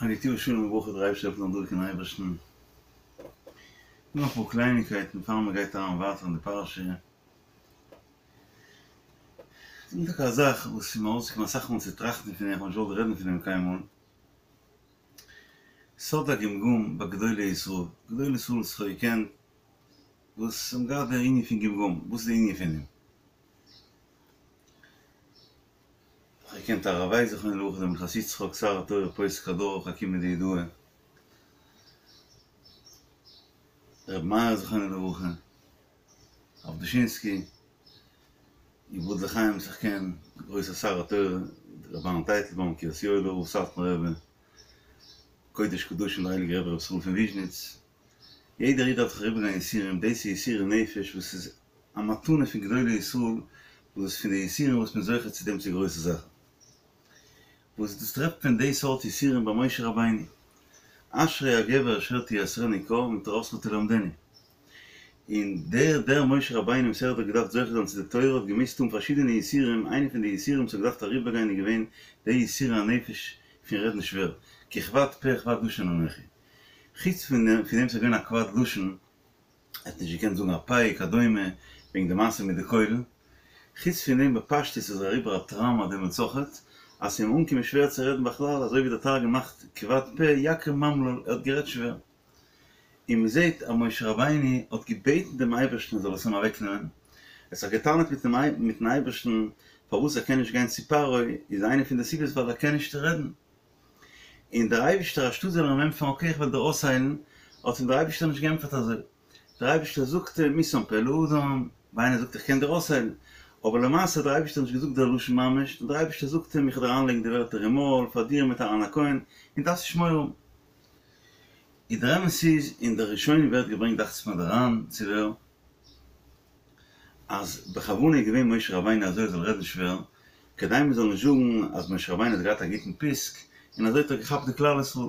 א גוט יאר שלום וברכה דער אייבערשטער העלפן זאלן דרוקן אייבערשטן. נאך אפאר קלייניקייטן פאר מען גייט אריין ווייטער אין די פרשה. ס'איז טאקע א זאך וואס איז מיר אויסגעקומען אסאך מאל צו טראכטן פון דעם, איך האב נישט געוואלט רעדן פון דעם קיינמאל. סוד הגמגום ביי גדולי ישראל, גדולי ישראל וואס איך האב געקענט, וואס האבן געהאט דער ענין פון גמגום, וואס איז די ענין פון דעם? איך האב געקענט הרב ווייס זכרונו לברכה דער מנחת יצחק שר התורה פוסק הדור חכימא דיהודאי ר' מאיר זכרונו לברכה הרב דושינסקי יבדל לחיים וואס איך קען גרויסער שר התורה ר' אהרן טייטלבוים קרית יואל'ער רב סאטמאר רבי קודש קדשים דער הייליגער רבי ר' ישראל פון וויזשניץ יעדער איד דארף זיך אריבערגיין יסורים דאס איז יסורי נפש וואס איז א מתנה פון גדולי ישראל וואס איז פון די יסורים וואס מען איז זוכה צו דעם צו גרויסע זאכן. וואס דאס טרעפט מען די סארט יסורים ביי משה רבינו, אשרי הגבר אשר תיסרנו קה ומתורתך תלמדנו. און דער דער משה רבינו וואס ער האט דאך געדארפט זוכה זיין צו די תורה האט געמוזט האבן פארשידענע יסורים, איינע פון די יסורים וואס ער האט געדארפט אריבערגיין איז געווען די יסורי הנפש פון רעדן שווער, כי כבד פה וכבד לשון אנכי. חוץ פון דעם וואס ער איז געווען א כבד לשון, ער האט נישט געקענט זאגן א פ' וכדומה וועגן די מעשה מיט די קוילן. חוץ פון דעם בפשטות איז ער אריבער א טראומא דעמאלטס אויכעט, אז ס'איז אים אנגעקומען שווער צו רעדן בכלל, אזוי ווי דער תרגום מאכט כבד פה יקרים ממלל, ער האט גערעדט שווער. און מ'זעט אז משה רבינו האט געבעטן דעם אייבערשטן ער זאל עס אים אוועקנעמען, ער האט זיך געטענה'ט מיטן אייבערשטן פארוואס ער קען נישט גיין צו פרעה, איז איינע פון די סיבות ווייל ער קען נישט רעדן. און דער אייבישטער אנשטאט זאל ער אים ענטפערן אקעי איך וועל דיר אויסהיילן, האט אים דער אייבישטער נישט געענטפערט אזוי, דער אייבישטער זאגט אים מי שם פה לאדם, ווי איינער זאגט איך קען דיר אויסהיילן, אבער למעשה האט דער אייבישטער נישט געזאגט דער לשון ממש, נאר דער אייבישטער זאגט אים איך וועל דיר אריינלייגן די ווערטער אין מויל פאר דיר מיט אהרן הכהן, און דארפסט נישט מורא האבן. איז דער אמת איז, אין די ראשונים ווערט געברענגט דאכט זיך מיר דער ר"ן צו ווער, אז בכוונה איז געווען משה רבינו אזוי ער זאל רעדן שווער, כדי מען זאל נישט זאגן אז משה רבינו האט געהאט א גוטן פיסק, און אזוי האט ער געכאפט די כלל ישראל.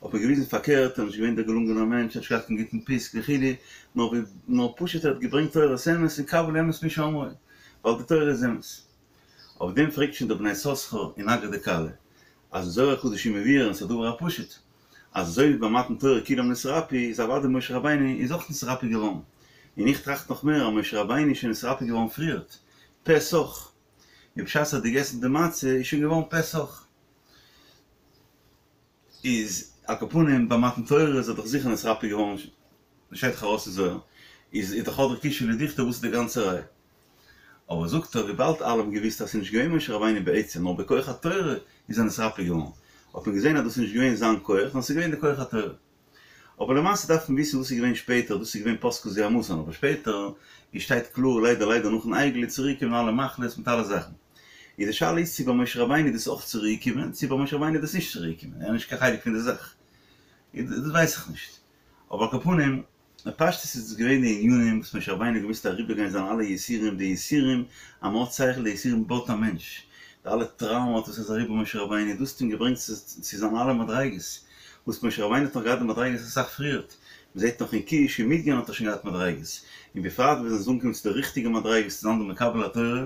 האט מען געוויזן פארקערט, ער איז נישט געווען דער געלונגענער מענטש, ער האט נישט געהאט קיין גוטן פיסק וכו', נאר ווי נאר פשוט ער האט געברענגט תורת אמת און קבל אמת מי שאמרו, ווייל די תורה איז אמת. אויף דעם פרעגט שוין דער בני יששכר אין אגרא דכלה, אז אין זוהר הקדוש איז מבואר און ס'איז א דבר הפשוט, אז אזוי ווי ביי מתן תורה כולם נתרפאו איז אוודאי משה רבינו איז אויך נתרפא געווארן, און איך טראכט נאך מער אז משה רבינו איז שוין נתרפא געווארן פריערט, פה סח, און בשעת ער האט געגעסן די מצה איז שוין געווארן פה סח. איז על כל פנים ביי מתן תורה איז ער דאך זיכער נתרפא געווארן, שטייט דאך ארויס אין זוהר, איז איז דאך הדרא קושיא לדוכתא וואס איז די גאנצע ראיה? אבער זאגט ער וויבאלד אלע האבן געוויסט אז ס'איז נישט געווען משה רבינו בעצם נאר בכח התורה איז ער נתרפא געווארן, האט מען געזען אז דאס איז נישט געווען זיין כח נאר ס'איז געווען די כח התורה. אבער למעשה דארף מען וויסן וואס איז געווען שפעטער, דאס איז געווען פסקה זוהמתן, אבער שפעטער ווי שטייט קלאר ליידער ליידער נאכן עגל איז צוריק געקומען אלע מחלות מיט אלע זאכן. איז די שאלה איז צו ביי משה רבינו איז דאס אויך צוריק געקומען, צו ביי משה רבינו איז דאס נישט צוריק געקומען, ער איז נישט קיין חלק פון די זאך, דאס ווייס איך נישט. אבער על כל פנים, בפשטות איז דאס געווען די ענינים וואס משה רבינו האט געמוזט אריבערגיין זיינע אלע יסורים, די יסורים, אז מען האט שכל, די יסורים בויט א מענטש, די אלע טראומות וואס איז אריבער משה רבינו, דאס האט אים געברענגט צו זיינע אלע מדריגות, וואס משה רבינו האט נאך געהאט די מדריגות אסאך פריערט, מען זעט נאך אין כוש און מדין האט ער שוין געהאט מדריגות, און בפרט ווען זיי אנגעקומען צו די ריכטיגע מדריגות צו זיין די מקבל התורה,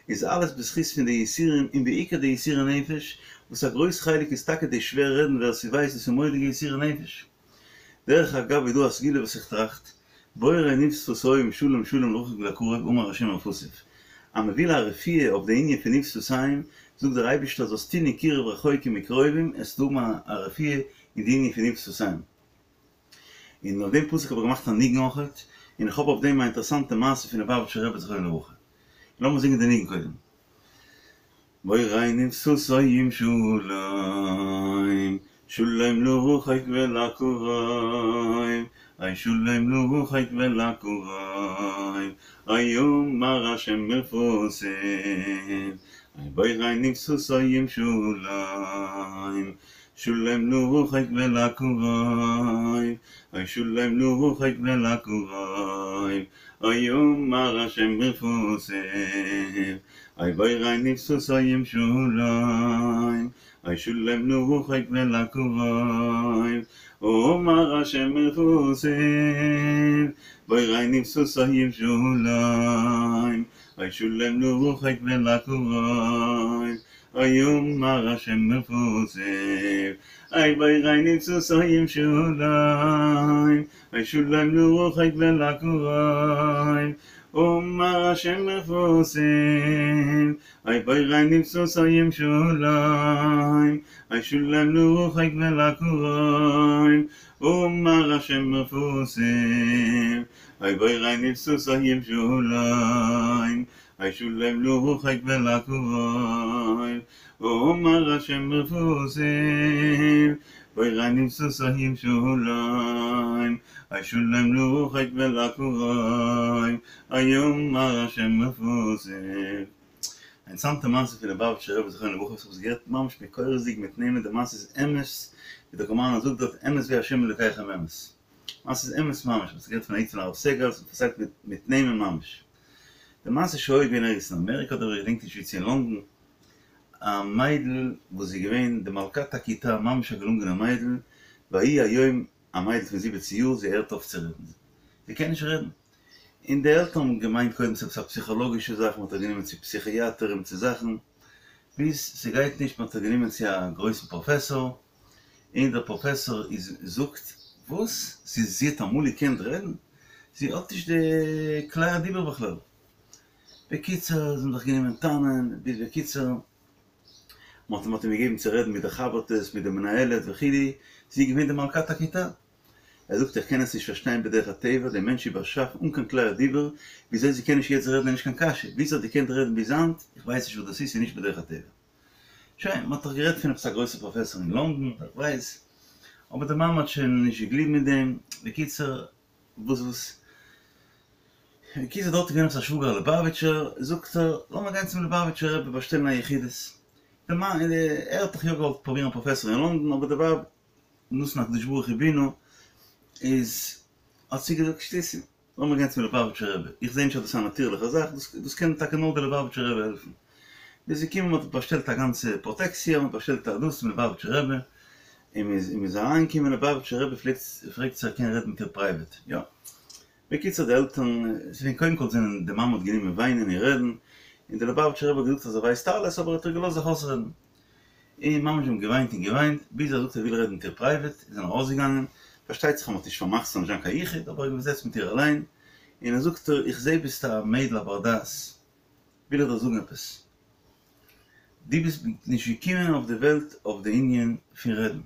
איז אלעס בזכות פון די יסורים און בעיקר די יסורי נפש, וואס א גרויס חלק איז טאקע די שווער רעדן ווער ס'ווייסט דאס איז מורא'דיגע יסורי נפש. דרך אגב איז דא א סגולה וואס איך טראכט, בורא ניב שפתים שלום שלום לרחוק ולקרוב אמר השם ורפאתיו. אז מען וויל א רפואה אויף די ענין פון ניב שפתים, זאגט דער אייבערשטער זאלסט טון אין קירוב רחוקים וקרובים עסטו האבן א רפואה אין די ענין פון ניב שפתים. און אויף דעם פסוק האב איך געמאכט א ניגון אויכעט, און איך האב אויף דעם א אינטערעסאנטע מעשה פון ליובאוויטשער רבי זכרונו לברכה. לאמיר זינגען די ניגון קודם. בורא ניב שפתים שלום, שלום לרחוק ולקרוב, אוי שלום לרחוק ולקרוב, אוי אמר השם ורפאתיו, אוי בורא ניב שפתים שלום, שלום לרחוק ולקרוב, אוי שלום לרחוק ולקרוב, אוי אמר השם ורפאתיו, אוי בורא ניב שפתים שלום, אוי שלום לרחוק ולקרוב, אמר השם ורפאתיו, בורא ניב שפתים שלום, אוי שלום לרחוק ולקרוב. ויאמר השם רפאתיו, אוי בורא נפשתים שלום, אוי שלום לרחוק ולקרוב, אמר השם רפאתיו, אוי בורא נפשתים שלום, אוי שלום לרחוק ולקרוב, אמר השם רפאתיו, אוי בורא נפשתים שלום, אוי שלום לרחוק ולקרוב, אמר השם רפאתיו, בורא נפשתים שלום, אוי שלום לרחוק ולקרוב, אמר השם רפאתיו. א אינטערעסאנטע מעשה פון ליובאוויטשער רבי זכרונו לברכה וואס כ'האב עס געהערט ממש מקורות'דיג מיט נעמען די מעשה איז אמת ווי דער קאמארנער זאגט דארט אמת ווי השם אלוקיכם אמת מעשה איז אמת ממש כ'האב עס געהערט פון א איד פון הרב סגל ס'איז פארציילט מיט נעמען ממש די מעשה שהיה געווען ערגעץ אין אמעריקא אדער איך געדענק נישט ווי צו אין לונדון א מיידל וואס איז געווען די מלכת הכיתה ממש א געלונגענע מיידל ויהי היום א מיידל פון זיבעצן יאר זי הערט אויף צו רעדן זי קען נישט רעדן און די עלטערן האבן געמיינט קודם ס'איז עפעס א פסיכאלאגישע זאך מ'האט איר גענומען צו פסיכיאטער צו זאכן ביז ס'גייט נישט מ'האט איר גענומען צו א גרויסן פראפעסאר און דער פראפעסאר איז זאגט וואס? זי זי האט אמאל געקענט רעדן? זי האט נישט די כלי הדיבור בכלל. בקיצור זיי האבן זיך גענומען טענה'ן ביז בקיצור מ'האט מ'האט אים געגעבן צו רעדן מיט די חבר'טעס מיט די מנהלת וכו' זי איז געווען די מלכת הכיתה. ער זאגט איך קען עס נישט פארשטיין בדרך הטבע, די מענטש איז באשאפן אן קיין כלי הדיבור, וויאזוי זי קען נישט יעצט רעדן איז נישט קיין קשיא, ווי זי האט געקענט רעדן ביז היינט, איך ווייס נישט וואס דאס איז, ס'איז נישט בדרך הטבע. שוין, מ'האט דאך גערעדט פון עפעס א גרויסע פראפעסאר אין לונדון, איך ווייס, אבער די מאמע האט שוין נישט געגליבן אין דעם, בקיצור, וואס וואס, בקיצור דארט איז געווען עפעס א שוואגער א ליובאוויטשער, זאגט ער, לאמיר גיין צום ליובאוויטשער רבי באשטעלן א יחידות, די מאן, ער האט דאך יא געוואלט פרובירן א פראפעסאר אין לונדון, אבער די ווייב נתן הקדוש ברוך הוא בינה איז האט זי געזאגט שטותים, לאמיר גיין צום ליובאוויטשער רבי, איך זעה נישט אז דאס איז א נאטירליכע זאך, דאס קען טאקע נאר דער ליובאוויטשער רבי העלפן. ביז זיי קומען, מען האט באשטעלט א גאנצע פראטעקציע, מען האט באשטעלט א דאס צום ליובאוויטשער רבי, און מען איז מען איז אריינגעקומען, ליובאוויטשער רבי פרעגט פרעגט צו ער קען רעדן מיט איר פרייוועט, יא. בקיצור די עלטערן, ס'איז קודם כל זענען די מאמע האט גענומען וויינען און רעדן, און דער ליובאוויטשער רבי האט געזאגט אז ער ווייסט אלעס אבער ער האט איר געלאזט זיך אויסרעדן. און ממש זיי האבן געוויינט און געוויינט, ביז ער זאגט ער וויל רעדן מיט איר פרייוועט, און זענען ארויסגעגאנגען, פארשטייט זיך אז מ'האט נישט פארמאכט ס'זאל נישט זיין קיין יחוד, אבער ער האט געזעצט מיט איר אליין, און ער זאגט איר, איך זעה ביסט א מיידל א בר דעת, וויל איך דיר זאגן עפעס, דו ביסט נישט געקומען אויף די וועלט אויף די ענין פון רעדן,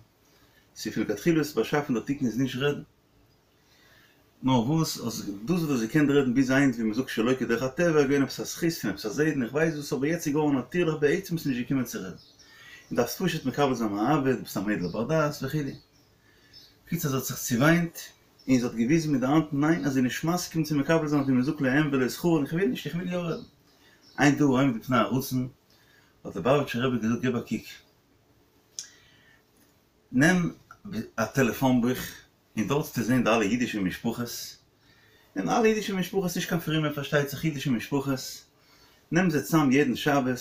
ס'איז פון לכתחילה ביסט באשאפן דער תיקון איז נישט רעדן, נאר וואס אז דאס וואס דו האסט געקענט רעדן ביז היינט ווי מ'זאגט שלא כדרך הטבע איז געווען עפעס א זכות פון עפעס א זיידן איך ווייס וואס אבער יעצט איז געווארן נאטירליך בעצם ביסט נישט געקומען צו רעדן און דארפסט פשוט מקבל זיין מאהבה דו ביסט א מיידל א בר דעת וכו'. בקיצור זי האט זיך צעוויינט און זי האט געוויזן מיט די האנט ניין אז זי איז נישט מסכים צו מקבל זיין ווי מ'זאגט לא הם ולא שכרן איך וויל נישט איך וויל יא רעדן. אין דבר העומד בפני הרצון האט ליובאוויטשער רבי געזאגט געב א קוק נעם א טעלעפאן בוך און דארט וועסטו זען די אלע אידישע משפחות, און אלע אידישע משפחות, נישט קיין פרומע פארשטייט זיך, אידישע משפחות, נעם זיי צאם יעדן שבת,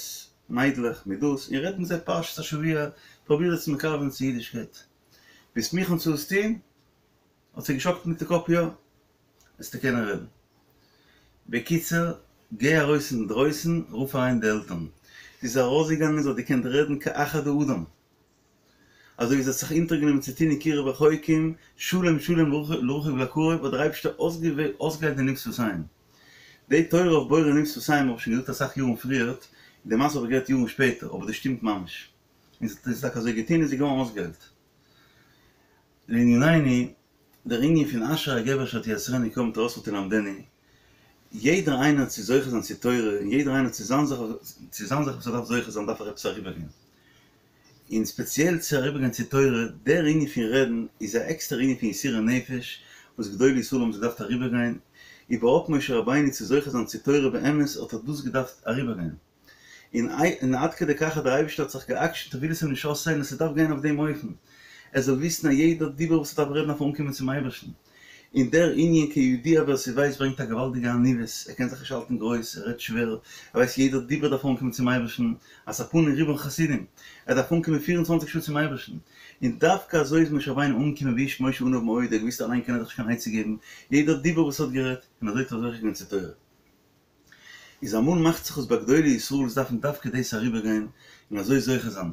מיידלעך מיט דאס, און רעד מיט זיי פרשת השבוע, פרוביר זיי צו מקרב זיין צו אידישקייט. ביסט מוכן צו עס טון? האט זי געשאקלט מיט די קאפ יא, וועסטו קענען רעדן. בקיצור, גיי ארויס אינדרויסן, רוף אריין די עלטערן. זי איז ארויסגעגאנגען, זי האט געקענט רעדן כאחד האדם. אזוי ווי זי האט זיך אונטערגענומען צו טון קירוב רחוקים, שלום שלום לרחוק ולקרוב, האט דער אייבערשטער אויסגעהיילט די ניב שפתיים. די תורה אויף בורא ניב שפתיים האב איך שוין געזאגט אסאך יארן פריערט, און די מעשה האב איך געהערט יארן שפעטער, אבער דאס שטימט ממש. און זי האט עס טאקע אזוי געטון און זי איז געווארן אויסגעהיילט. לענינינו, דער ענין פון אשרי הגבר אשר תיסרנו קה מתורתך תלמדנו, יעדער איינער צו זוכה זיין צו תורה, און יעדער איינער צו זיין זאך צו זיין זאך וואס ער דארף זוכה זיין דארף ער עפעס אריבערגיין. און ספעציעל צו אריבערגיין צו תורה, דער ענין פון רעדן איז א עקסטערע ענין פון יסורי נפש וואס גדולי ישראל האבן זיך געדארפט אריבערגיין, איבערהויפט משה רבינו צו זוכה זיין צו תורה באמת האט ער דאס געדארפט אריבערגיין, און און עד כדי כך אז דער אייבערשטער האט זיך גע'עקשנ'ט ער וויל עס אים נישט אויסהיילן ס'דארף גיין אויף דעם אופן, ער זאל וויסן אז יעדער דיבור וואס ער דארף רעדן דארף אנקומען צום אייבערשטן. און דער ענין כידוע ווער ס'ווייסט ברענגט א געוואלדיגע עניוות, ער קען זיך נישט האלטן גרויס, ער רעדט שווער, ער ווייסט יעדער דיבור דארף אנקומען צום אייבערשטן, משוא פנים רובם חסידים, ער דארף אנקומען פיר און צוואנציג שעה צום אייבערשטן, און דווקא אזוי איז משה רבינו אנגעקומען ואיש משה עניו מאוד, ער האט געוואוסט אליין קען ער זיך נישט קיין עצה געבן, יעדער דיבור וואס ער האט גערעדט, און אזוי האט ער זוכה געווען צו תורה. איז אמאל מאכט זיך עס ביי גדולי ישראל וואס דארפן דווקא דאס אריבערגיין און אזוי זוכה זיין,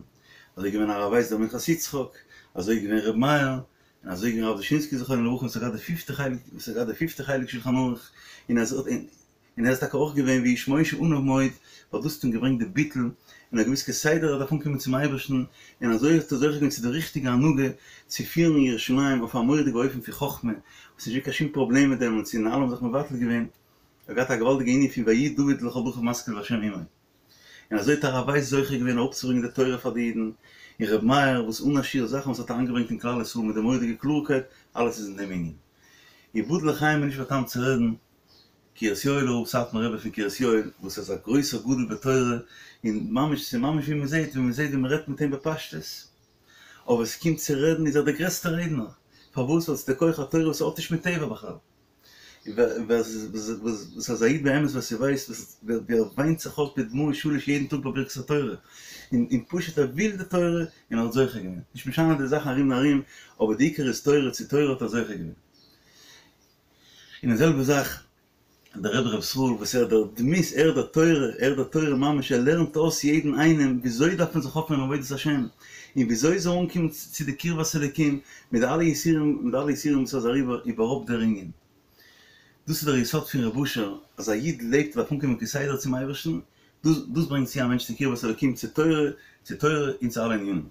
אזוי איז געווען הרב ווייס דער מנחת יצחק, אזוי איז געווען ר' מאיר, און אזוי איז געווען הרב דושינסקי זכרונו לברכה וואס האט געהאט די פיפטע חלק, וואס האט געהאט די פיפטע חלק שלחן ערוך, און אזוי און ער איז טאקע אויך געווען והאיש משה עניו מאוד, ווייל דאס האט אים געברענגט די ביטול, און ער האט געוואוסט כסדר ער דארף אנקומען צום אייבערשטן, און אזוי האט ער זוכה געווען צו די ריכטיגע הנהגה, צו פירן ירושלים אויף א מורא'דיגע אופן פון חכמה, וואס נישט געווען קיין שום פראבלעם מיט דעם, און צו און אלע האבן זיך מבטל געווען, ער האט געהאט א געוואלדיגע ענין פון ויהי דוד לכל דרכיו משכיל והשם עמו. און אזוי האט הרב ווייס זוכה געווען אראפצוברענגען די תורה פאר די אידן, און ר' מאיר וואס אן א שיעור זאכן וואס האט אריינגעברענגט אין כלל ישראל מיט די מורא'דיגע קלארקייט, אלעס איז אין דעם ענין. יבדל לחיים איז נישט באטאמט צו רעדן, קרית יואל'ער רב, סאטמאר רבי פון קרית יואל, וואס איז א גרויסער גדול בתורה, און ממש ס'איז ממש ווי מ'זעט ווי מ'זעט ווי מ'רעדט מיט אים בפשטות, אבער ס'קומט צו רעדן איז ער דער גרעסטער רעדנער, פארוואס? ווייל ס'איז דער כח התורה וואס האט נישט מיט טבע בכלל. וואס אז א איד באמת ווער ס'ווייסט ווי ער וויינט זיך אויס בדמעות שליש יעדן טאג ביי ברכת התורה, און פשוט ער וויל די תורה און ער האט זוכה געווען, נישט משנה די זאכן ארום און ארום, אבער די עיקר איז תורה, צו תורה האט ער זוכה געווען. און די זעלבע זאך דער רבי ר' ישראל וואס ער דער דמות, ער דער תורה, ער דער תורה ממש, ער לערנט אויס יעדן איינעם וויאזוי דארף מען זיך אויפפירן אין עבודת השם, און וויאזוי זאל אנקומען צו די קרבת אלוקים מיט די אלע יסורים, מיט די אלע יסורים וואס איז אריבער איבערהויפט דער ענין. דאס איז דער יסוד פון רב אשר, אז א איד לעבט און דארף אנקומען כסדר צום אייבערשטן, דאס דאס ברענגט צו א מענטש צו קרבת אלוקים, צו תורה, צו תורה און צו אלע ענינים.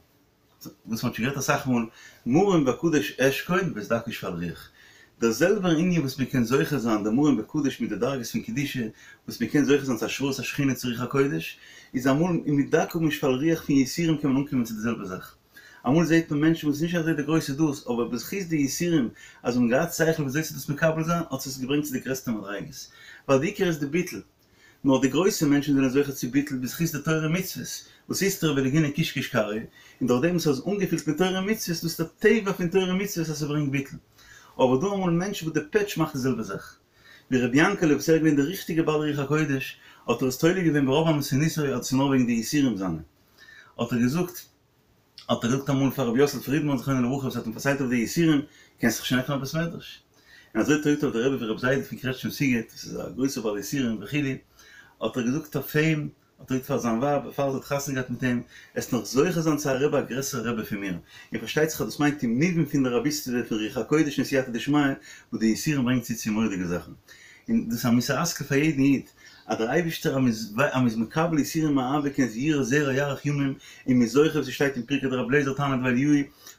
וואס מ'האט שוין גערעדט אסאך מאל, מרום בקדוש אשכון ואת דכא ושפל רוח. דער זעלבער ענין וואס מ'קען זוכה זיין די מרום בקדוש מיט די דרגות פון קדושה, וואס מ'קען זוכה זיין צו השראת השכינה צו רוח הקודש, איז אמאל מיט דכא ושפל רוח פון יסורים קען מען אנקומען צו די זעלבע זאך. אמאל זעט מען מענטשן וואס איז נישט אזוי די גרויסע דאס, אבער בזכות די יסורים אז זיי האבן געהאט שכל וויאזוי צו דאס מקבל זיין, האט עס געברענגט צו די גרעסטע מדריגות. ווייל די עיקר איז די ביטול. נאר די גרויסע מענטשן זענען זוכה צו ביטול בזכות די תורה ומצוות, וואס איסתרא בלגינא קיש קיש כרעא, און דורך דעם וואס ער איז אנגעפילט מיט תורה ומצוות, דאס איז די טבע פון תורה ומצוות אז ס'ברענגט ביטול. אבער דא אמאל מענטשן וואס די פעטש מאכט די זעלבע זאך. ווי רבי יענקעלע וואס ער איז געווען די ריכטיגע בעל רוח הקודש, האט ער עס תולה געווען ברוב ענוותנותו אז דאס איז נאר וועגן די יסורים זיינע. האט ער געזאגט. האט ער געזאגט אמאל פאר רבי יוסל פרידמאן זכרונו לברכה וואס האט אים פארציילט אויף די יסורים, קענסט זיך שוין עפענען א בית מדרש. און אזוי האט ער געזאגט אויף די רבי פון רבי זיידל פון קרעטשניף סיגעט, וואס איז א גרויסער בעל יסורים וכו', האט ער געזאגט אויף אים, האט ער געזאגט פאר זיין ווייב בעפאר זי האט חתונה געהאט מיט אים, עסט נאך זוכה זיין צו א רבי א גרעסערע רבי פון מיר, און פארשטייט זיך אז דאס מיינט אין מובן פון די רביסטעווע פון רוח הקודש און סייעתא דשמיא, וואס די יסורים ברענגט צו צו מורא'דיגע זאכן. און דאס איז א מוסר השכל פאר יעדן איד, אז דער אייבערשטער אז מ'איז מקבל יסורים מאהבה קען זיין יראה זרע יאריך ימים, און מ'איז זוכה ווי ס'שטייט אין פרקי דרבי אליעזר תנא דבי אליהו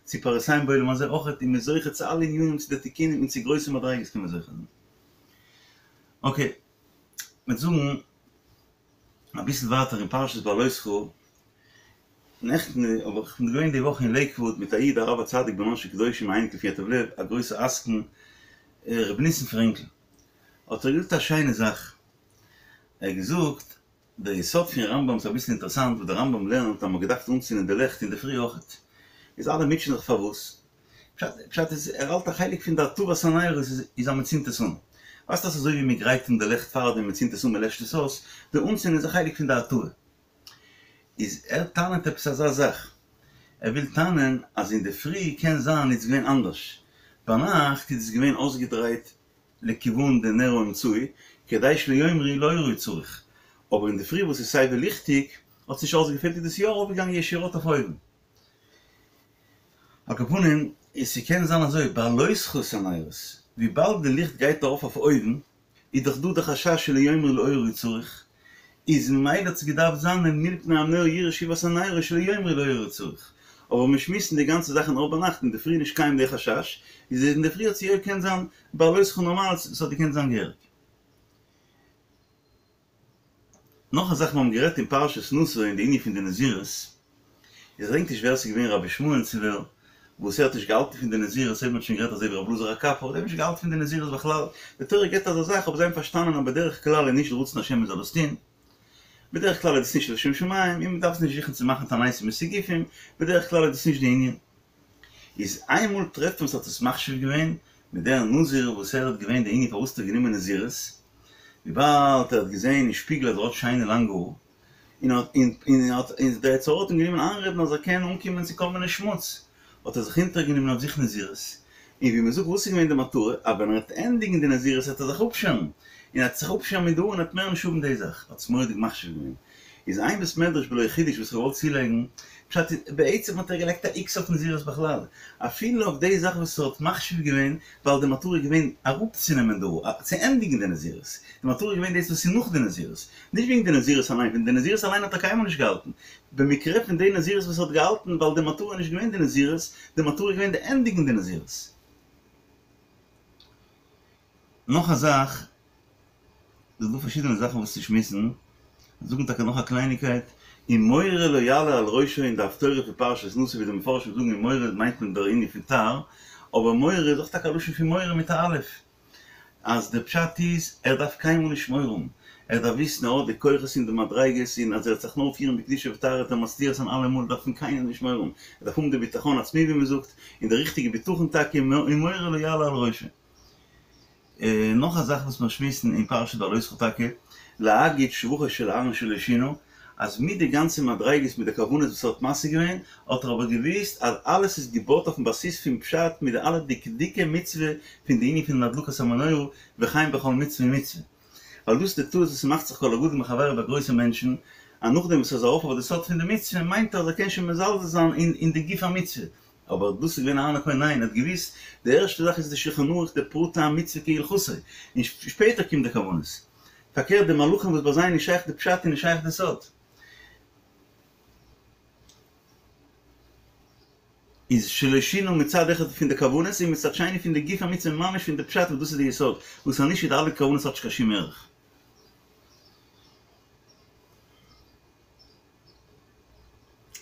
צו פרנסים בעולם הזה אויכעט, און מ'איז זוכה צו אלע ענינים צו די תיקונים און צו גרויסע מדריגות קען מען זוכה זיין. אקעי, מ'וועט זאגן אביסל ווייטער אין פרשת בהעלותך, נעכטן האב איך כ'בין געווען די וואך אין לעיקוואוד מיט א איד הרב הצדיק בנן של קדושים א אייניקל פון ייטב לב א גרויסע עסקן ר' ניסן פרענקל האט ער געזאגט א שיינע זאך ער האט געזאגט דער יסוד פון רמב"ם איז אביסל אינטערעסאנט וואס דער רמב"ם לערנט אז מ'האט געדארפט אנצינדן די לעכט אינדערפרי אויכעט איז אלע מוטשען זיך פארוואס פשט פשט איז ער האלט א חלק פון די הטבת הנרות איז אז מ'צינדט עס אן ווייסט אז אזוי ווי מ'גרייט אן די לעכט פארדעם מ'צינדט עס אן מ'לעשט עס אויס די אנצינדן איז א חלק פון די הטבה. איז ער טענה'ט עפעס אזא זאך, ער וויל טענה'ן אז אינדערפרי קען זיין איז געווען אנדערש, ביינאכט איז עס געווען אויסגעדרייט לכיוון די נר האמצעי, כדי שלא יאמרו לאורה הוא צריך, אבער אינדערפרי וואס איז סייווי ליכטיג האט עס נישט אויסגעפעלט איז דאס יא ארויפגעגאנגען ישירות אויף אויבן. על כל פנים, איז ס'קען זיין אזוי, בהעלותך את הנרות, וויבאלד די ליכט גייט ארויף אויף אויבן, איז דאך דא די חשש שלא יאמרו לאורה הוא צריך, איז ממילא האט עס געדארפט זיין אל מול פני המנורה יראו שאיבת הנרות שלא יאמרו לאורה הוא צריך, אבער מיר שמועסן די גאנצע זאך נאר ביינאכט אינדערפרי נישט קיים די חשש, איז אינדערפרי האט יא געקענט זיין בהעלותך נארמאל ס'האט געקענט זיין געהעריג. נאך א זאך מיר האבן גערעדט אין פרשת נשא אין די ענין פון די נזירות, איך געדענק נישט ווער ס'איז געווען רבי ישמעאל צו ווער, וואס ער האט נישט געהאלטן פון די נזירות, אויב מ'האט שוין גערעדט אזוי ווי רבי אלעזר הקפר, האט ער נישט געהאלטן פון די נזירות בכלל, די תורה געבט אזא זאך אבער זיי האבן פארשטאנען אז בדרך כלל איז נישט רצון השם מ'זאל עס טון, בדרך כלל איז דאס נישט לשם שמים, און מ'דארף נישט זוכן צו מאכן תעניתים און סיגופים, בדרך כלל איז דאס נישט די ענין. איז איינמאל טרעפט מען וואס האט עס מחשיב געווען, מיט דער נזיר וואס ער האט געווען די ענין פארוואס האט ער גענומען נזירות, וויבאלד ער האט געזען אין שפיגל אז ער האט שיינע לאנגע האר, און האט און האט און דער יצר הרע האט אים גענומען איינרעדן אז ער קען אנקומען צו כל מיני שמוץ, האט ער זיך אונטערגענומען אויף זיך נזירות, און ווי מען זאגט וואס איז געווען די מטרה, אז ווען ער וועט ענדיגן די נזירות וועט ער זיך אפשערן, און ער וועט זיך אפשערן מיט די האר און ער וועט מער נישט האבן די זאך, האט עס מורא'דיג מחשיב געווען. איז איין בית מדרש בלא חידוש וואס איך וואלט צולייגן, פשט איז, בעצם האט ער געלייגט א איקס אויף נזירות בכלל, אפילו אויף די זאך וואס ער האט מחשיב געווען, ווייל די מטרה איז געווען אראפצונעמען די האר, צו ענדיגן די נזירות, די מטרה איז געווען דאס וואס איז נאך די נזירות, נישט וועגן די נזירות אליין, פון די נזירות אליין האט ער קיינמאל נישט געהאלטן, במקרה פון די נזירות וואס ער האט געהאלטן, ווייל די מטרה איז נישט געווען די נזירות, די מטרה איז געווען די ענדיגן די נזירות. נאך א זאך, ס'איז דא פארשידענע זאכן וואס צו שמועסן, זאגן טאקע נאך א קלייניגקייט, ומורה לא יעלה על ראשו אין די הפטורה פון פרשת נשא ווי די מפרשים זאגן ומורה מיינט מען דער ענין פון תער, אבער מורה איז אויך טאקע א לשון פון מורא מיט א אלף, אז דער פשט איז ער דארף קיינמאל נישט מורא האבן, ער דארף וויסן ער האט די כוחות און די מדריגות און אז ער וועט זיך נאר פירן בקדושה וטהרה וועט ער מצליח זיין אלעמאל ער דארף פון קיינעם נישט מורא האבן, ער דארף האבן די בטחון עצמי ווי מען זאגט, און די ריכטיגע בטחון טאקע, ומורה לא יעלה על ראשו. נאך א זאך וואס מיר שמועסן אין פרשת בהעלותך טאקע, להגיד שבחו של אהרן שלא שינה, אז מיט די גאנצע מדריגות מיט די כוונות וואס ער האט משיג געווען, האט ער אבער געוואוסט אז אלעס איז געבויט אויפן בסיס פון פשט מיט די אלע דקדוקי מצוה פון די ענין פון הדלקת המנורה וכן בכל מצוה ומצוה. ווייל דאס איז די טעות וואס ס'מאכט זיך כל הגדול מחבירו ביי גרויסע מענטשן, אז נאכדעם וואס ער איז ארויף אויף די סוד פון די מצוה מיינט ער אז ער קען שוין מזלזל זיין אין די גוף המצוה, אבער דאס איז געווען אהרן הכהן ניין ער האט געוויסט די ערשטע זאך איז די שולחן ערוך די פרטי המצוה כהלכתו און שפעטער קומט די כוונות פארקערט די מלאכים וואס ביי זיי איז נישט שייך די פשט און נישט שייך די סוד איז שלא שינה מצד אחד פון די כוונות און מצד שני פון די גוף המצוה ממש פון די פשט וואס דאס איז די יסוד וואס אז נישט איז די אלע כוונות האט נישט קיין שום ערך.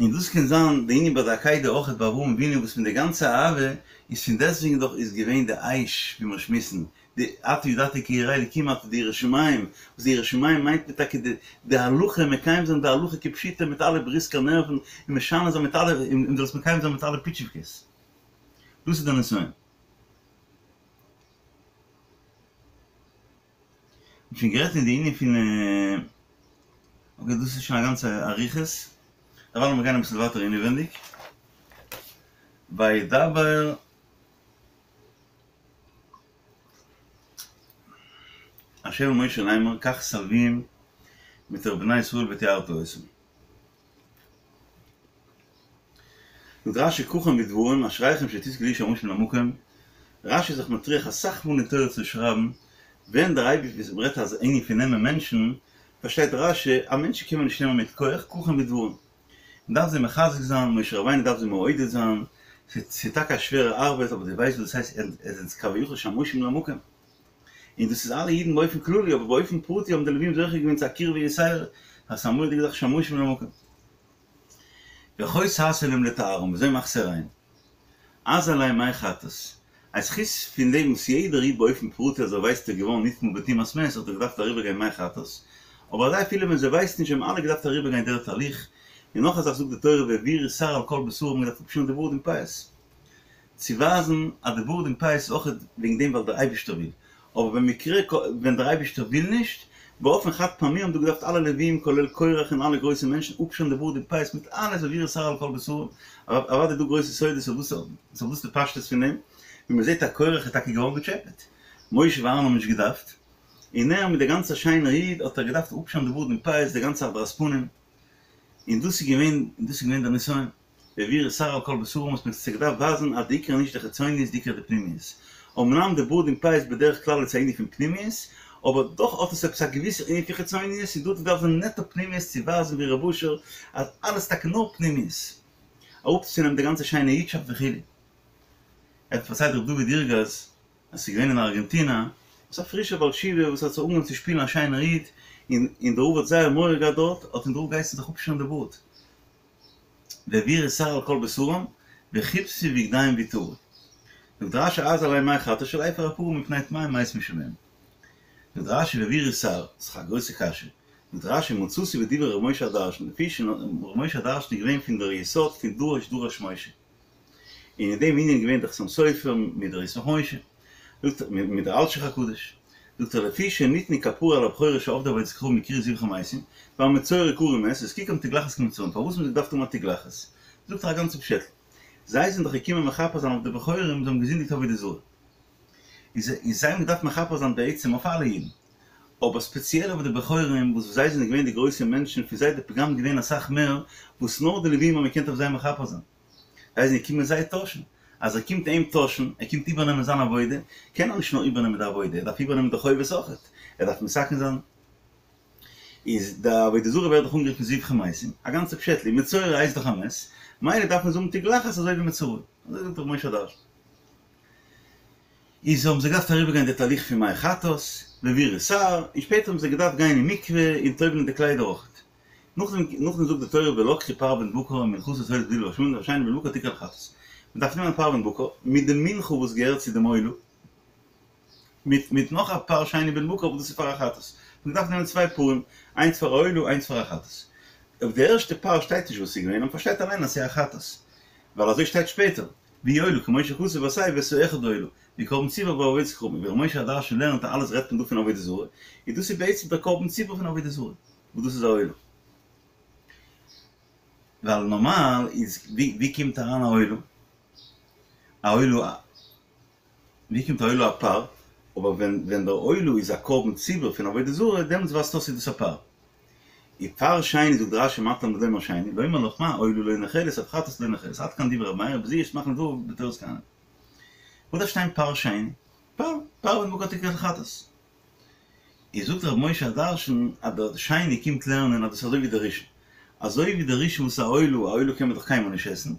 און דאס קען זיין די ענין ביי די עקידה אויכעט ביי אברהם אבינו וואס פון די גאנצע אהבה איז פון דעסטוועגן דאך איז געווען די אש ווי מיר שמועסן די עתה ידעתי כי ירא אלקים אתה די יראת שמים וואס די יראת שמים מיינט מען טאקע די די הלכה מקיים זיין די הלכה כפשוטה מיט אלע בריסקער נערוון און משנה זיין מיט אלע און דאס מקיים זיין מיט אלע פיטשיווקעס דאס איז די נסיון. מ'האט שוין גערעדט אין די ענין פון אקעי דאס איז שוין א גאנצע אריכות, דערווייל לאמיר גיין אביסל ווייטער אינעווענדיג, וידבר ה' אל משה לאמר קח את הלוים מתוך בני ישראל וטהרת אותם. זאגט רש"י קחם בדברים אשריכם שתזכו להיות שמשים למקום, רש"י איז זיך מטריח אסאך מאל אין תורה צו שרייבן ווען דער אייבערשטער וואס מ'רעדט אז ענין פון נעמען מענטשן, פארשטייט רש"י אז מענטשן קען מען נישט נעמען מיט כח, קחם בדברים, מ'דארף זיי מחזק זיין, משה רבינו דארף זיי מעודד זיין, ס'איז טאקע א שווערע ארבעט אבער דו ווייסט וואס דאס הייסט עטס זענטס כביכול שמשים למקום, און דאס איז אלע אידן באופן כללי, אבער באופן פרטי האבן די לווים זוכה געווען צו א קירבה יתירה, אז ס'איז א מורא'דיגע זאך שמשים למקום. וכה תעשה להם לטהרם, וויאזוי מאכסטו ריין? הזה עליהם מי חטאת. אז חוץ פון דעם וואס יעדער איד באופן פרטי אז ער ווייסט איז געווארן נטמא בטומאת מת האט ער געדארפט אריבערגיין מי חטאת, אבער אזי אפילו ווען זיי ווייסן נישט האבן אלע געדארפט אריבערגיין דער תהליך, און נאך א זאך זאגט די תורה והעבירו שער על כל בשרם האבן געדארפט אפשערן די בארד און פאות. צו ווייזן אז די בארד און פאות איז אויך וועגן דעם ווייל דער אייבערשטער וויל, אבער במקרה ווען דער אייבערשטער וויל נישט, באופן חד פעמי האבן דא געדארפט אלע לווים כולל קורח און אלע גרויסע מענטשן אפשערן די בארד און פאות מיט אלעס והעבירו שער על כל בשרם, אוודאי דא גרויסע סודות אויף וואס איז די פשטות פון דעם, ווי מען זעט אז קורח איז טאקע געווארן געטשעפעט, משה ואהרן האבן נישט געדארפט, און ער מיט די גאנצע שיינער איד האט ער געדארפט אפשערן די בארד און פאות די גאנצע הדרת פנים, און דאס איז געווען און דאס איז געווען דער נסיון. והעבירו שער על כל בשרם וואס מען האט געדארפט ווייזן אז די עיקר איז נישט די חיצוניות די עיקר איז די פנימיות. אמנם די בארד און פאות בדרך כלל איז א ענין פון פנימיות, אבער דאך האט עס עפעס א געוויסע ענין פון חיצוניות און דא האט געדארפט זיין נעטא פנימיות צו ווייזן ווי רב אשר אז אלעס טאקע נאר פנימיות. אראפצונעמען די גאנצע שיינע אידשאפט וכו'. ער האט פארציילט ר' דוד ירגז אז ס'איז געווען אין ארגענטינא עפעס א פרישער בעל תשובה וואס האט זיך אנגעהויבן צו שפילן א שיינער איד און און דער רב האט זייער מורא געהאט דארט האט אים דער רב געהייסן זיך אפשערן די בארד. והעבירו שער על כל בשרם, וכבסו בגדיהם וטהרו. זאגט רש"י הזה עליהם מי חטאת של אפר הפרה מפני טמאי מת משלהם. זאגט רש"י והעבירו שער, ס'איז א גרויסע קשיא. זאגט רש"י מצאתי בדברי ר' משה הדרשן, לפי ש ר' משה הדרשן איז געווען פון דער יסוד פון דרוש דרש משה. און אין דעם ענין איז געווען דער חתם סופר מיט דער ישמח משה. זאגט ער מיט דער אלשיך הקדוש. זאגט ער לפי שניתנה כפרה על הבכורות שעבדו עבודת כוכבים והקריבו זבחי מתים, והמצורע קרוי מת, הזקיקם תגלחת כמצורעים, פארוואס האבן זיי געדארפט האבן א תגלחת? זאגט ער א גאנצע פשעטל. זיי זענען דאך געקומען מכפר זיין אויף די בכורים, זיי האבן געזינדיגט עבודה זרה. איז זיי האבן געדארפט מכפר זיין בעצם אויף אלע אידן. אבער ספעציעל אויף די בכורים וואס זיי זענען געווען די גרויסע מענטשן, פון זיי איז די פגם געווען אסאך מער, וואס נאר די לווים האבן געקענט אויף זיי מכפר זיין. זיי זענען געקומען זיי טוישן. אז ער קומט אים טוישן, ער קומט איבערנעמען זיין עבודה, קען ער נישט נאר איבערנעמען די עבודה, ער דארף איבערנעמען די חובות אויכעט, ער דארף מתקן זיין. איז די עבודה זרה ווערט דאך אנגערופן זבחי מתים, א גאנצע פשעטל, און מצורע הייסט דאך א מת, מילא דארף מען זאגן תגלחת אזוי ווי מצורע. אזוי זאגט ר' משה הדרשן. איז האבן זיי געדארפט אריבערגיין די תהליך פון מי חטאת, ובירור שער, און שפעטער האבן זיי געדארפט גיין אין מקווה און טובל'ן די קליידער אויכעט. נאכדעם נאכדעם זאגט די תורה ולקחו פר בן בקר ומנחתו עולת בדיל והשמנים והשני בן בקר תקרב לחטאת. מען דארף נעמען פר בן בקר מיט די מנחה וואס געהערט צו דעם עולה, מיט מיט נאך א פר שני בן בקר וואס דאס איז פאר א חטאת. מען דארף נעמען צוויי פרים, איינס פאר א עולה איינס פאר א חטאת. אויף די ערשטע פר שטייט נישט וואס ס'איז געווען, און מען פארשטייט אליין אז ס'איז א חטאת, ווייל אזוי שטייט שפעטער, והוא עולה כמו שכתוב עשה ואת האחד העולה, והוא קרבן ציבור בעבור עבודת כוכבים, ווי ר' משה הדרשן לערנט אז אלעס רעדט מען דא פון עבודה זרה, איז דאס איז בעצם דער קרבן ציבור פון עבודה זרה. וואס דאס איז א עולה. ווייל נארמאל איז ווי ווי קומט אריין א עולה? א עולה ווי קומט א עולה א פר? אבער ווען ווען דער עולה איז א קרבן ציבור פון עבודה זרה דעמאלטס ווייזט אויס איז דאס א פר. און פר שני זאגט רש"י מה תלמוד לומר שני לומר לך מה עולה לא נאכלת אף חטאת לא נאכלת עד כאן דברי ר' מאיר בזה יש מחנה דבריו בתורת כהנים. וואס דארף שטיין פר שני? פר, פר בן בקר תקרב לחטאת. איז זאגט ר' משה הדרשן אז דער שני קומט לערנען אז דאס איז אזוי ווי דער ראשון, אזוי ווי דער ראשון וואס איז א עולה, א עולה קען מען דאך קיינמאל נישט עסן,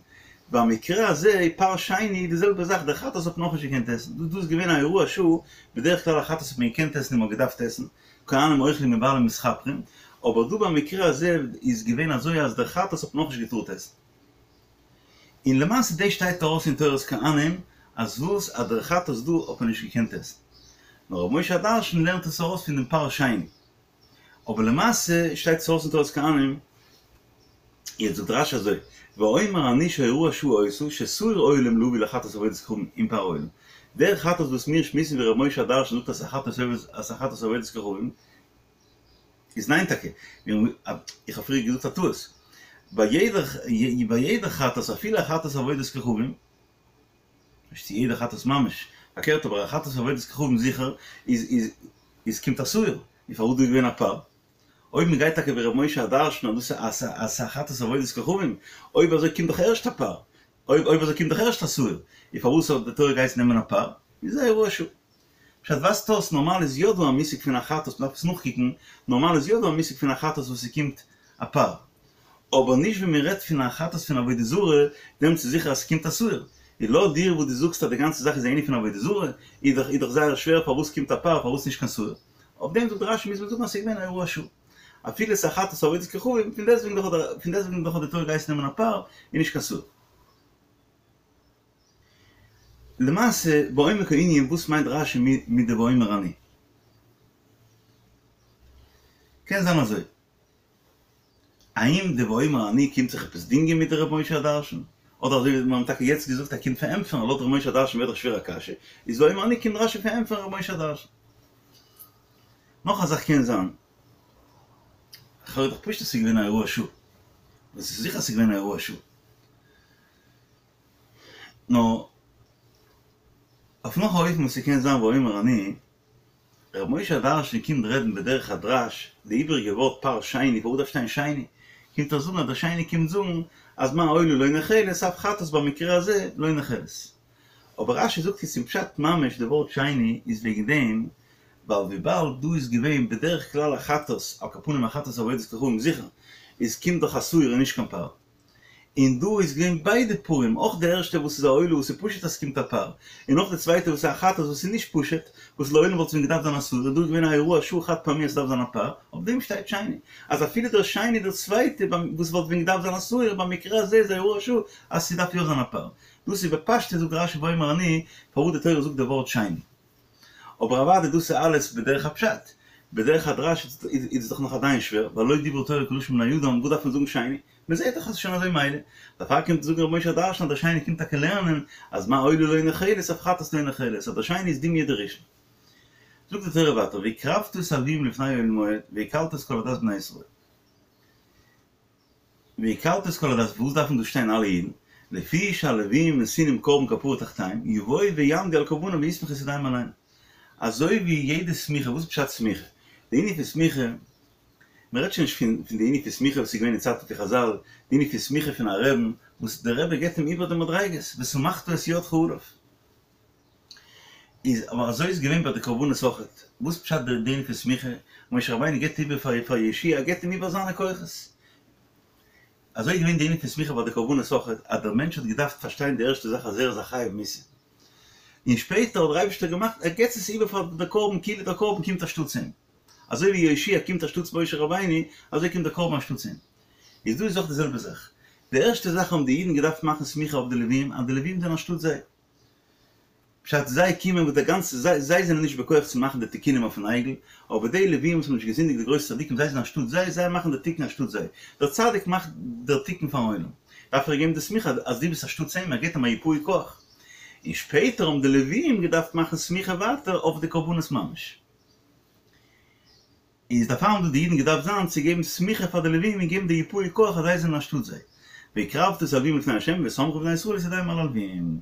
במקרה הזה פר שני די זעלבע זאך, דער חטאת האט מען אויך נישט געקענט עסן, דא איז געווען א הוראת שעה, בדרך כלל א חטאת האט מען געקענט עסן און מען האט געדארפט עסן, כהנים אוכלים ובעלים מתכפרים, אבער דא במקרה הזה איז געווען אזוי אז דער חטאת האט מען אויך נישט געטארט עסן. און למעשה דאס שטייט ארויס אין תורת כהנים אז וואס אז דער חטאת דא האט מען נישט געקענט עסן. נאר ר' משה הדרשן לערנט עס ארויס פון דעם פר שני. אבער למעשה שטייט עס ארויס אין תורת כהנים. יעצט זאגט רש"י אזוי, ואומר אני שהוראת שעה היתה ששעיר עולים להביא לחטאת עבודת כוכבים עם פר העולה. דער חטאת וואס מיר שמועסן ווי ר' משה הדרשן זאגט אז ס'איז א חטאת עבודת כוכבים, איז ניין טאקע, איך האב פריער געזאגט א טעות, ביי יעדע ביי יעדע חטאת אפילו א חטאת עבודת כוכבים, נישט צו יעדע חטאת ממש, פארקערט אבער א חטאת עבודת כוכבים זיכער איז איז איז קומט א שעיר, און פארוואס דא איז געווען א פר? אויב מען גייט טאקע ווי ר' משה הדרשן אז דאס איז אז ס'איז א חטאת עבודת כוכבים, אויב אזוי קומט דאך ערשט א פר, אויב אויב אזוי קומט דאך ערשט א שעיר, און פארוואס האט די תורה געהייסן נעמען א פר? איז א הוראת שעה. פשט ווייזט אויס נארמאל איז יא דא א מושג פון א חטאת מ'דארף עס נאכקוקן, נארמאל איז יא דא א מושג פון א חטאת וואס ס'קומט א פר, אבער נישט ווען מ'רעדט פון א חטאת פון עבודה זרה, דעמאלטס איז זיכער אז ס'קומט א שעיר, און לויט דיר וואס דו זאגסט אז די גאנצע זאך איז א ענין פון עבודה זרה, איז דאך איז דאך זייער שווער פארוואס קומט א פר פארוואס נישט קיין שעיר, אויף דעם זאגט רש"י מוז מען זאגן אז ס'איז געווען א הוראת שעה אפילו ס'איז א חטאת עבודת כוכבים, פון דעסטוועגן דאך האט פון דעסטוועגן דאך האט די תורה געהייסן נעמען א פר און נישט קיין שעיר. למעשה בעומק הענין וואס מיינט רש"י מיט די ואומר אני? קען זיין אזוי. האם די ואומר אני קומט זיך עפעס דינגען מיט די ר' משה הדרשן? אדער אזוי ווי מיר האבן טאקע יעצט געזאגט ער קומט פארענטפערן לויט ר' משה הדרשן ווערט דאך שווער א קשיא, איז ואומר אני קומט רש"י פארענטפערן ר' משה הדרשן. נאך א זאך קען זיין, לכאורה איז דאך פשוט אז ס'איז געווען א הוראת שעה. דאס איז זיכער אז ס'איז געווען א הוראת שעה. נאר אויף נאך א אופן וואס ס'קען זיין ואומר אני, ר' משה הדרשן קומט רעדן בדרך הדרש, די איבעריגע ווארט פר שני, פארוואס דארף שטיין שני? קומט ער זאגן אז דער שני קומט זאגן אז מה עולה לא נאכלת אף חטאת במקרה הזה לא נאכלת. אבער רש"י זאגט יעצט אין פשט ממש די ווארט שני איז וועגן דעם ווייל וויבאלד דא איז געווען בדרך כלל א חטאת, על כל פנים א חטאת עבודת כוכבים זיכער, איז קומט דאך א שעיר און נישט קיין פר. און דא איז געווען ביידע פרים, אויך די ערשטע וואס איז א עולה וואס איז פשוט אז ס'קומט א פר, און אויך די צווייטע וואס איז א חטאת וואס איז נישט פשוט, וואס לעולם וואלט ווען געדארפט זיין א שעיר, און דא איז געווען א הוראת שעה חד פעמי אז ס'דארף זיין א פר, אויף דעם שטייט שני, אז אפילו דער שני דער צווייטע וואס וואלט ווען געדארפט זיין א שעיר, במקרה הזה איז א הוראת שעה אז ס'דארף יא זיין א פר. דאס איז בפשטות זאגט רש"י ואומר אני, פארוואס די תורה זאגט די ווארט שני. אבער אוודאי דאס איז אלעס בדרך הפשט, בדרך הדרש איז עס דאך נאך עדיין שווער, ווייל לא דברה תורה כלשון בני אדם, וואס דארף מען זאגן שני? מען זעט דאך אז עס איז שוין אזוי מילא, דערפאר קומט זאגן ר' משה הדרשן אז דער שני קומט טאקע לערנען אז מה עולה לא נאכלת אף חטאת לא נאכלת, אז דער שני איז דומיא דראשון. זאגט די תורה ווייטער והקרבת את הלוים לפני אוהל מועד והקהלת את כל עדת בני ישראל. והקהלת את כל עדת, וואס דארפן דא שטיין אלע אידן? לפי שהלווים נתונים קרבן כפרה תחתיהם, יבואו ויעמדו על קרבנם ויסמכו את ידיהם עליהם. אזוי ווי יעדע סמיכה, וואס איז פשט סמיכה? די ענין פון סמיכה, מען רעדט שוין נישט פון פון די ענין פון סמיכה וואס איז געווען אין צייטן פון חזל, די ענין פון סמיכה פון א רעבן, וואס דער רבי געבט אים איבער די מדריגות, וסמכת את ידך עליו. איז אבער אזוי איז געווען ביי די קרבנות אויכעט, וואס פשט די ענין פון סמיכה, משה רבינו געבט איבער פאר פאר יהושע, ער געבט אים איבער זיינע כוחות. אזוי איז געווען די ענין פון סמיכה ביי די קרבנות אויכעט, אז דער מענטש האט געדארפט פארשטיין די ערשטע זאך אז ער איז א חייב מיתה, און שפעטער האט דער אייבערשטער געמאכט ער געבט עס איבער פאר די קרבן כאילו דער קרבן קומט אנשטאטס אים, אזוי ווי יהושע קומט אנשטאטס משה רבינו, אזוי קומט דער קרבן אנשטאטס אים. איז דא איז אויך די זעלבע זאך. די ערשטע זאך האבן די אידן געדארפט מאכן סמיכה אויף די לווים, אז די לווים זענען אנשטאט זיי. פשט, זיי קומען וואס די גאנצע, זיי זיי זענען נישט בכח צו מאכן די תיקונים אויפן עגל, אבער די לווים וואס האבן נישט געזינדיגט די גרויסע צדיקים זיי זענען אנשטאט זיי, זיי מאכן די תיקון אנשטאט זיי. דער צדיק מאכט דער תיקון פארן עולם. דארף ער געבן די סמיכה אז דו ביסט אנשטאטס אים, ער געבט אים א יפוי כח. און שפעטער האבן די לווים געדארפט מאכן סמיכה ווייטער אויף די קרבנות ממש. איז דערפאר האבן דא די אידן געדארפט זיין צו געבן סמיכה פאר די לווים און געבן די יפוי כח אז זיי זענען אנשטאט זיי. והקרבת את הלווים לפני ה' וסמכו בני ישראל את ידיהם על הלווים.